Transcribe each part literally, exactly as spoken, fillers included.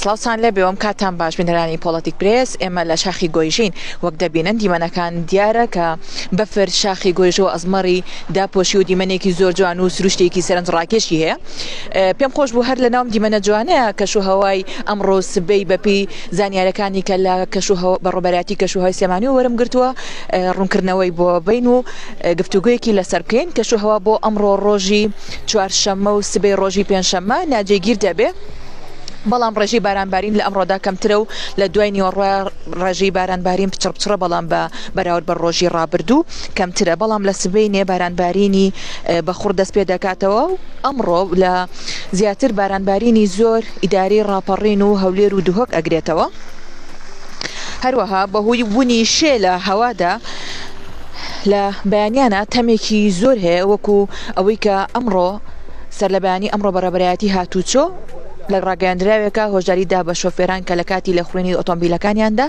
سڵاوتان لێبێ ئەم کاتان باش بینەرانی پۆڵەتیک پرێس. ئێمە لە شاخی گۆیژین وەک دەبینن دیمەنەکان دیارە کە بەفر شاخی گۆیژە و ئەزمەڕی داپۆشی و دیمەنێکی زۆر جوان و سروشتێکی سەرنجڕاکێشی هەیە. پێم خۆش بوو هەر لە ناوم دیمەنە جوانەیە کەش و هەوای ئەمڕۆ سبەی بەپی زانیارەکانی کە لە کەش و بەڕێوەبەرایەتی کەش و هەوای سلێمانی وەرم گرتووە ڕوونکردنەوەی بۆ بین و گفتوگویەکی لەسەر بکەین. کەش و هەوا بۆ ئەمڕۆ ڕۆژی چوارشەممە و سبەی ڕۆژی پێنجشەممە ناجێگیر دەبێ، بەڵام ڕێژەی بارانبارین لە ئەمڕۆدا کەمترە و لە دوای نیوەڕۆ ڕێژەی بارانبارین پچڕپچڕە، بەڵام بە بەراورد بە ڕۆژی ڕابردوو کەمترە. بەڵام لە سبەینێ بارانبارینی بەخوڕ دەست پێ دەکاتەوە و ئەمڕۆ لە زیاتر بارانبارینی زۆر ئیداری ڕاپەڕین و هەولێر و دهۆک ئەگرێتەوە. هەروەها بەهۆی بوونی شێ لە هەوادا لە بەیانیانە تەمێکی زۆر هەیە، وەکو ئەوەی کە ئەمڕۆ سەر لە بەیانی ئەمڕۆ بەڕێوەبەرایەتی هاتوچۆ لە ڕاگەیاندراوێکە هۆشداری دا بە شۆفێران کە لە کاتی لێخوڕینی ئۆتۆمبیلەکانیاندا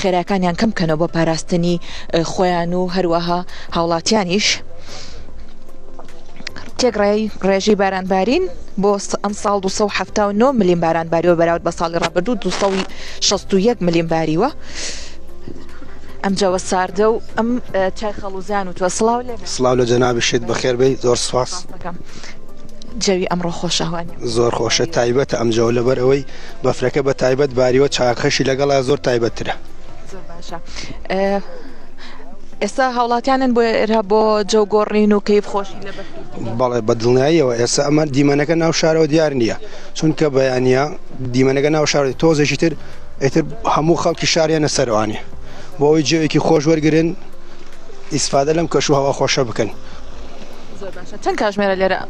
خێراکانیان کەم بکەنەوە بۆ پاراستنی خۆیان و هەروەها هاوڵاتیانیش. تێکڕای ڕێژەی بارانبارین بۆ ئەمساڵ دوو سەد و حەفتا و نۆ ملیم باران باریوە بەراورد بە ساڵی ڕابردوو دوو سەد و شەست و یەک ملیم باریوە. ئەم جەوە ساردە و ئەم چای خەڵوزان و تۆ سڵاو لێ. سڵاو لە جەنابیشت، بەخێر بێی، زۆر سوپاس. جەوی ئەمڕۆ خۆشە هەوانیە؟ زۆر خۆشە، تایبەتە ئەم جەوە لەبەر ئەوەی بەفرەکە بە تایبەت باریوە، چاکەشی لەگەڵا زۆر تایبەتترە. زۆر باشە. ئێستا هاوڵاتیانن بۆ ئێرە بۆ جەو گۆڕین و کەیف خۆشی لە بەفری؟ بەڵێ بە دڵنیاییەوە. ئێستا ئەمە دیمەنەکە ناو شارەوە دیار نییە، چونکە بەیانە دیمەنەکە ناو شارەوە تۆزێکی تر ئیتر هەموو خەڵکی شاریانە سەروانێ بۆ ئەوەی جێوێکی خۆش وەرگن ئیسفادە لەم کەش و هەوا خۆشە بکەن. زۆر باشە. چەند کاتژمێرە لێرە؟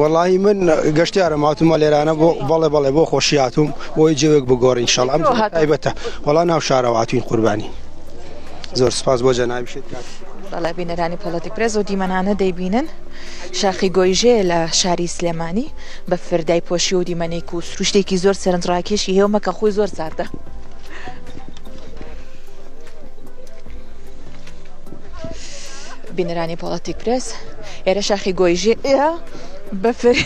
وەڵی من گەشتیارم هاتوومە لێرانە بۆ بەڵێ بەڵێ بۆ خۆشی هاتووم بۆی جێوێک بگۆڕین ئینشاڵڵا. ئەم تایبەتە وەڵا ناو شارەوە هاتوین قوربانی. زۆر سپاس بۆ جەنابیشت. بەڵێ بینەرانی پۆڵەتیک پرێس و دیمەنانە دەیبینن. شاخی گۆیژێ لە شاری سلێمانی بە فردای پۆشی و دیمەنێک و سروشتێکی زۆر سەرنجڕاکێشی هەیە و مەکە خۆی زۆر ساردە. بینەرانی پۆڵەتیک پرێس ئێرە شاخی گۆیژێ بەفر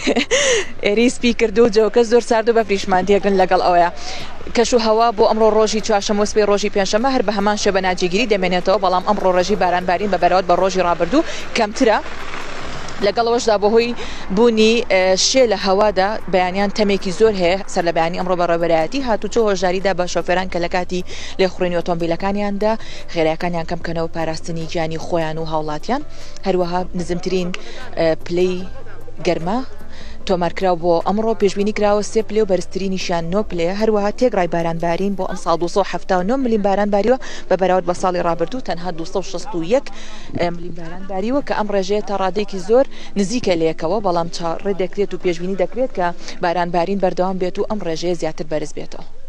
ئێری سپی کردو و جەوکە زۆر سارد و بەفریشمان تێکردن لەگەڵ ئەوەیە. کەش و هەوا بۆ ئەمڕۆ ڕۆژی چوارشەممە و سبەی ڕۆژی پێنجشەممە هەر بە هەمان شێوە ناجێگیری دەمێنێتەوە، بەڵام ئەمڕۆ ڕێژەی بارانبارین بە بەراورد بە ڕۆژی ڕابردوو کەمترە. لەگەڵەوەشدا بەهۆی بوونی شێ لە هەوادا بەیانیان تەمێکی زۆر هەیە. سەر لە بەیانی ئەمڕۆ بەڕێوەبەرایەتی هاتوچۆ هۆشداریدا بە شۆفێران کە لە کاتی لێخوڕینی ئۆتۆمبیلەکانیاندا خێراکانیان کەم بکەنەوە پاراستنی گیانی خۆیان و هاوڵاتیان. هەروەها نزمترین پلەی گەرما تۆمارکراو بۆ ئەمڕۆ پێشبینی کراوە سێ پلێ و بەرزترینیشیان نۆ پلەیە. هەروەها تێکڕای بارانبارین بۆ ئەمساڵ دوو سەد و حەفتا و نۆ ملیم باران باریوە بە بەراورد بە ساڵی ڕابردوو تەنها دوو سەد و شەست و یەک ملیم باران باریوە کە ئەم ڕێژەیە تا ڕادەیەکی زۆر نزیکە لەیەکەوە، بەڵام چاڕێ دەکرێت و پێشبینی دەکرێت کە بارانبارین بەردەوام بێت و ئەم ڕێژەیە زیاتر بەرز بێتەوە.